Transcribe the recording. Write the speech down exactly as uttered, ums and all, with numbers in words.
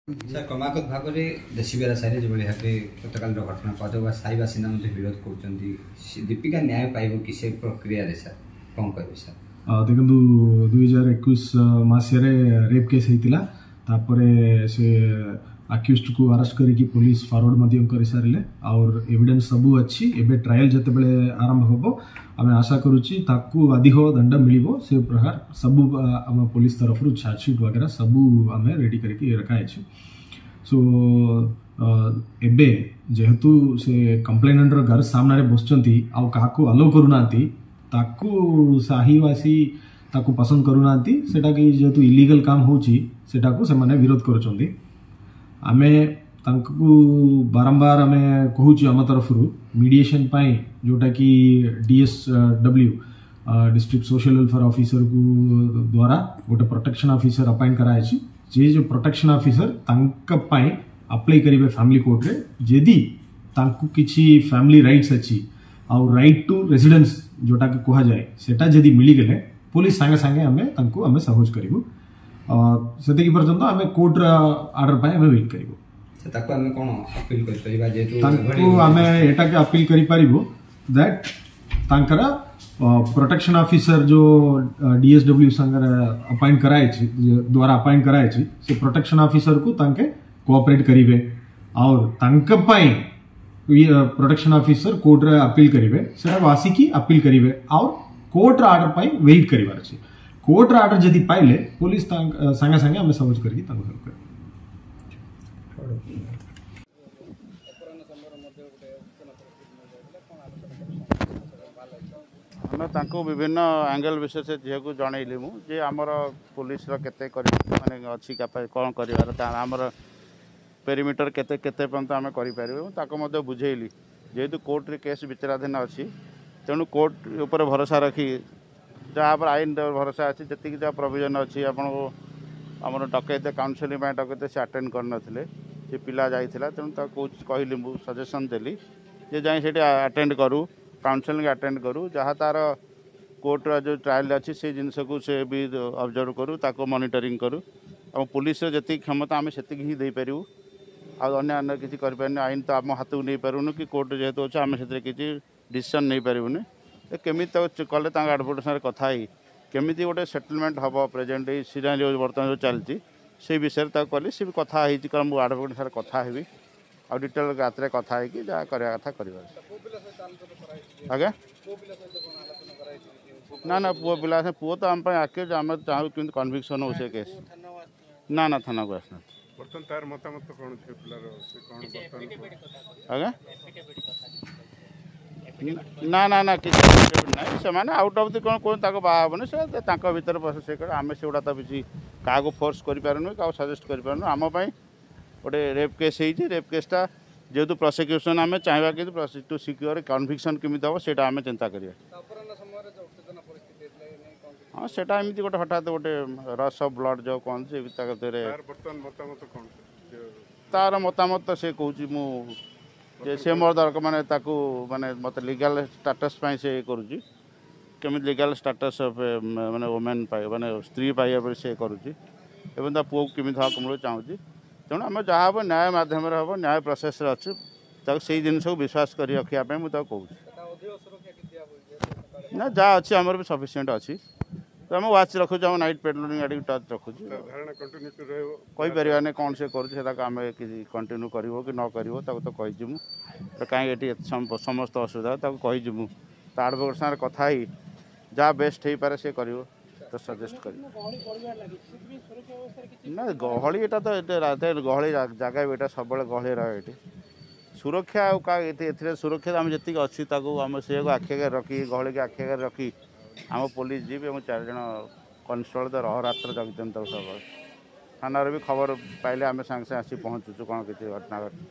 Sir, କ୍ରମାଗତ ଭାବରେ ଦେଶୀବେରା ସାହିରେ ଯେଭଳି ଭାବେ ଗତକାଲିର ଘଟଣା କୁହାଯାଉ ବା ସାହି ବାସିନ୍ଦା ମଧ୍ୟ ବିରୋଧ କରୁଛନ୍ତି, ଦୀପିକା ନ୍ୟାୟ ପାଇବ କି ସେ ପ୍ରକ୍ରିୟାରେ, ସାର୍ କ'ଣ କହିବେ ସାର୍? ଦେଖନ୍ତୁ, ଦୁଇ ହଜାର ଏକୋଇଶ ମସିହାରେ ରେପ୍ କେସ୍ ହେଇଥିଲା। ତାପରେ ସେ ଆକ୍ୟୁଜଡକୁ ଆରେଷ୍ଟ କରିକି ପୋଲିସ ଫରୱାର୍ଡ ମଧ୍ୟ କରିସାରିଲେ ଆଉ ଏଭିଡେନ୍ସ ସବୁ ଅଛି। ଏବେ ଟ୍ରାଏଲ୍ ଯେତେବେଳେ ଆରମ୍ଭ ହେବ, ଆମେ ଆଶା କରୁଛି ତାକୁ ଅଧିକ ଦଣ୍ଡ ମିଳିବ। ସେ ପ୍ରକାର ସବୁ ଆମ ପୋଲିସ ତରଫରୁ ଚାର୍ଜସିଟ୍ ବଗେରା ସବୁ ଆମେ ରେଡି କରିକି ରଖାହେଇଛି। ସୋ ଏବେ ଯେହେତୁ ସେ କମ୍ପ୍ଲେନାଣ୍ଟର ଘର ସାମ୍ନାରେ ବସୁଛନ୍ତି ଆଉ କାହାକୁ ଆଲୋ କରୁନାହାନ୍ତି, ତାକୁ ସାହିବାସୀ ତାକୁ ପସନ୍ଦ କରୁନାହାନ୍ତି। ସେଟାକି ଯେହେତୁ ଇଲିଗାଲ କାମ ହେଉଛି, ସେଟାକୁ ସେମାନେ ବିରୋଧ କରୁଛନ୍ତି। ଆମେ ତାଙ୍କୁ ବାରମ୍ବାର ଆମେ କହୁଛୁ ଆମ ତରଫରୁ ମିଡ଼ିଏସନ୍ ପାଇଁ, ଯେଉଁଟାକି D S W district social welfare ଅଫିସରକୁ ଦ୍ୱାରା ଗୋଟେ ପ୍ରୋଟେକ୍ସନ୍ ଅଫିସର ଆପଏଣ୍ଟ କରାଯାଇଛି। ଯେ ଯେଉଁ ପ୍ରୋଟେକ୍ସନ୍ ଅଫିସର ତାଙ୍କ ପାଇଁ ଆପ୍ଲାଇ କରିବେ ଫ୍ୟାମିଲି କୋର୍ଟରେ, ଯଦି ତାଙ୍କୁ କିଛି ଫ୍ୟାମିଲି ରାଇଟ୍ସ ଅଛି ଆଉ ରାଇଟ୍ ଟୁ ରେସିଡେନ୍ସ ଯେଉଁଟାକି କୁହାଯାଏ, ସେଟା ଯଦି ମିଳିଗଲେ ପୋଲିସ ସାଙ୍ଗେ ସାଙ୍ଗେ ଆମେ ତାଙ୍କୁ ଆମେ ସହଜ କରିବୁ। ସେତିକି ପର୍ଯ୍ୟନ୍ତ ଆମେ କୋର୍ଟର ଅର୍ଡର ପାଇଁ ଆମେ ୱେଟ୍ କରିବୁ। ତାକୁ ଆମେ କ'ଣ ଅପିଲ କରିପାରିବା ଯେହେତୁ ତାଙ୍କୁ ଆମେ ଏଟାକେ ଅପିଲ କରିପାରିବୁ that ତାଙ୍କର ପ୍ରୋଟେକ୍ସନ ଅଫିସର ଯୋଉ ଡିଏସଡବ୍ଲ୍ୟୁ ସାଙ୍ଗରେ ଆପଏଣ୍ଟ କରାଯାଇଛି, ଦ୍ୱାରା ଆପଏଣ୍ଟ କରାଯାଇଛି, ସେ ପ୍ରୋଟେକ୍ସନ ଅଫିସରକୁ ତାଙ୍କେ କୋଅପରେଟ୍ କରିବେ ଆଉ ତାଙ୍କ ପାଇଁ ପ୍ରୋଟେକ୍ସନ ଅଫିସର କୋର୍ଟରେ ଅପିଲ କରିବେ। ସେଟାକୁ ଆସିକି ଅପିଲ କରିବେ ଆଉ କୋର୍ଟର ଅର୍ଡର ପାଇଁ ୱେଟ୍ କରିବାର ଅଛି। କୋର୍ଟର ଅର୍ଡର ଯଦି ପାଇଲେ ପୋଲିସ ସାଙ୍ଗେ ସାଙ୍ଗେ ଆମେ ସହଜ କରିକି ତାଙ୍କୁ ହେଲ୍ପ କରିବୁ। ଆମେ ତାଙ୍କୁ ବିଭିନ୍ନ ଆଙ୍ଗେଲ ବିଷୟରେ ସେ ଝିଅକୁ ଜଣେଇଲି ମୁଁ ଯେ ଆମର ପୋଲିସର କେତେ କରି ମାନେ ଅଛି, କ'ଣ କରିବାର, ଆମର ପେରିମିଟର କେତେ କେତେ ପର୍ଯ୍ୟନ୍ତ ଆମେ କରିପାରିବୁ, ତାକୁ ମଧ୍ୟ ବୁଝେଇଲି। ଯେହେତୁ କୋର୍ଟରେ କେସ୍ ବିଚାରାଧୀନ ଅଛି, ତେଣୁ କୋର୍ଟ ଉପରେ ଭରସା ରଖି, ଯାହା ଉପରେ ଆଇନ ଭରସା ଅଛି, ଯେତିକି ଯାହା ପ୍ରୋଭିଜନ୍ ଅଛି। ଆପଣଙ୍କୁ ଆମର ଡକେଇତେ କାଉନସେଲିଂ ପାଇଁ ଡକେଇତେ, ସେ ଆଟେଣ୍ଡ କରିନଥିଲେ। ସେ ପିଲା ଯାଇଥିଲା, ତେଣୁ ତାକୁ କହିଲି ମୁଁ, ସଜେସନ୍ ଦେଲି ଯେ ଯାଇ ସେଠି ଆଟେଣ୍ଡ କରୁ, କାଉନସେଲିଂ ଆଟେଣ୍ଡ କରୁ, ଯାହା ତା'ର କୋର୍ଟର ଯେଉଁ ଟ୍ରାଏଲ୍ ଅଛି ସେଇ ଜିନିଷକୁ ସେ ବି ଅବଜର୍ଭ କରୁ, ତାକୁ ମନିଟରିଂ କରୁ। ଏବଂ ପୋଲିସର ଯେତିକି କ୍ଷମତା ଆମେ ସେତିକି ହିଁ ଦେଇପାରିବୁ, ଆଉ ଅନ୍ୟ ଅନ୍ୟ କିଛି କରିପାରିବୁନି। ଆଇନ ତ ଆମ ହାତକୁ ନେଇପାରିବୁନି କି କୋର୍ଟ ଯେହେତୁ ଅଛି ଆମେ ସେଥିରେ କିଛି ଡିସିସନ୍ ନେଇପାରିବୁନି। କେମିତି ତାକୁ କଲେ, ତାଙ୍କ ଆଡ଼ଭୋକେଟ୍ ସାଙ୍ଗରେ କଥା ହେଇ କେମିତି ଗୋଟେ ସେଟଲମେଣ୍ଟ ହେବ, ପ୍ରେଜେଣ୍ଟ ଏଇ ସିନାରିଓ ବର୍ତ୍ତମାନ ଯେଉଁ ଚାଲିଛି ସେଇ ବିଷୟରେ ତାକୁ କଲି। ସେ ବି କଥା ହେଇଛି, କାରଣ ମୁଁ ଆଡ଼ଭୋକେଟ୍ ସାଙ୍ଗରେ କଥା ହେବି ଆଉ ଡିଟେଲ୍ ରାତିରେ କଥା ହେଇକି ଯାହା କରିବା କଥା କରିବା। ଆଜ୍ଞା, ନା ନା, ପୁଅ ପିଲା, ପୁଅ ତ ଆମ ପାଇଁ ଆକ୍ୟୁଜ୍। ଆମେ ଚାହୁଁ କେମିତି କନଭିକ୍ସନ୍ ହଉ ସେ କେସ୍। ନା ନା, ଥାନାକୁ ଆସିନାହାନ୍ତି। ବର୍ତ୍ତମାନ ତାର ମତାମତ କ'ଣ ଝିଅ ପିଲାର, ସେ କ'ଣ ବର୍ତ୍ତମାନ? ଆଜ୍ଞା, ନା ନା ନା, କିଛି ନାହିଁ। ସେମାନେ ଆଉଟ୍ ଅଫ୍ the କ'ଣ କୁହନ୍ତି, ତାକୁ ବାହା ହେବନି, ସେ ତାଙ୍କ ଭିତରେ ସେ କରେ। ଆମେ ସେଗୁଡ଼ା ତ କିଛି କାହାକୁ ଫୋର୍ସ କରିପାରୁନୁ, କାହାକୁ ସଜେଷ୍ଟ କରିପାରୁନୁ। ଆମ ପାଇଁ ଗୋଟେ ରେପ୍ କେସ୍ ହେଇଛି। ରେପ୍ କେସ୍ଟା ଯେହେତୁ ପ୍ରସିକ୍ୟୁସନ୍ ଆମେ ଚାହିଁବା କିନ୍ତୁ ଟୁ ସିକ୍ୟୁର କନଭିକ୍ସନ୍ କେମିତି ହେବ, ସେଇଟା ଆମେ ଚିନ୍ତା କରିବା। ହଁ, ସେଇଟା ଏମିତି ଗୋଟେ ହଠାତ୍ ଗୋଟେ ରସ୍ ଅଫ୍ ବ୍ଲଡ଼ ଯେଉଁ କହନ୍ତି, ସେ ତା ଭିତରେ। ତାର ମତାମତ ସେ କହୁଛି ମୁଁ ଯେ ସେ ମୋର ଦରକାର, ମାନେ ତାକୁ ମାନେ ମୋତେ ଲିଗାଲ୍ ଷ୍ଟାଟସ୍ ପାଇଁ ସେ କରୁଛି, କେମିତି ଲିଗାଲ୍ ଷ୍ଟାଟସ୍ ମାନେ ଓମେନ୍ ପାଇବ, ମାନେ ସ୍ତ୍ରୀ ପାଇବା ପାଇଁ ସେ କରୁଛି ଏବଂ ତା ପୁଅକୁ କେମିତି ହକ୍ ମିଳୁ ଚାହୁଁଛି। ତେଣୁ ଆମେ ଯାହା ହେବ ନ୍ୟାୟ ମାଧ୍ୟମରେ ହେବ, ନ୍ୟାୟ ପ୍ରୋସେସ୍ରେ ଅଛି। ତାକୁ ସେଇ ଜିନିଷକୁ ବିଶ୍ୱାସ କରି ରଖିବା ପାଇଁ ମୁଁ ତାକୁ କହୁଛି। ନା, ଯାହା ଅଛି ଆମର ବି ସଫିସିଏଣ୍ଟ ଅଛି। ତ ଆମେ ୱାଚ୍ ରଖୁଛୁ, ଆମ ନାଇଟ୍ ପେଟ୍ରୋଲିଂ ଗାଡ଼ିକୁ ଟଚ୍ ରଖୁଛୁ। କହିପାରିବାନି କ'ଣ ସେ କରୁଛି, ସେଟାକୁ ଆମେ କିଛି କଣ୍ଟିନ୍ୟୁ କରିବ କି ନ କରିବ। ତାକୁ ତ କହିଛି ମୁଁ, କାହିଁକି ଏଠି ଏତେ ସମସ୍ତ ଅସୁବିଧା, ତାକୁ କହିଛି ମୁଁ। ତା ଆଡ଼ଭୋକେଟ୍ ସାଙ୍ଗରେ କଥା ହେଇ ଯାହା ବେଷ୍ଟ ହେଇପାରେ ସେ କରିବ, ତ ସଜେଷ୍ଟ କରିବ। ନା, ଗହଳି ଏଇଟା ତ ଏତେ ଗହଳି ଜାଗା ବି, ଏଇଟା ସବୁବେଳେ ଗହଳି ରହେ ଏଠି। ସୁରକ୍ଷା ଆଉ କାହା ଏଥିରେ ସୁରକ୍ଷା ଆମେ ଯେତିକି ଅଛି ତାକୁ ଆମେ ସେଇଆକୁ ଆଖି ଆଗରେ ରଖି, ଗହଳିକି ଆଖି ଆଗରେ ରଖି ଆମ ପୋଲିସ ଜିପ୍ ଏବଂ ଚାରିଜଣ କନଷ୍ଟେବଳ ତ ଅହରାତ୍ର ଜଗିଛନ୍ତି ତାକୁ ସବୁବେଳେ। ଥାନାରେ ବି ଖବର ପାଇଲେ ଆମେ ସାଙ୍ଗେ ସାଙ୍ଗେ ଆସି ପହଞ୍ଚୁଛୁ, କ'ଣ କିଛି ଘଟଣା ଘଟେ।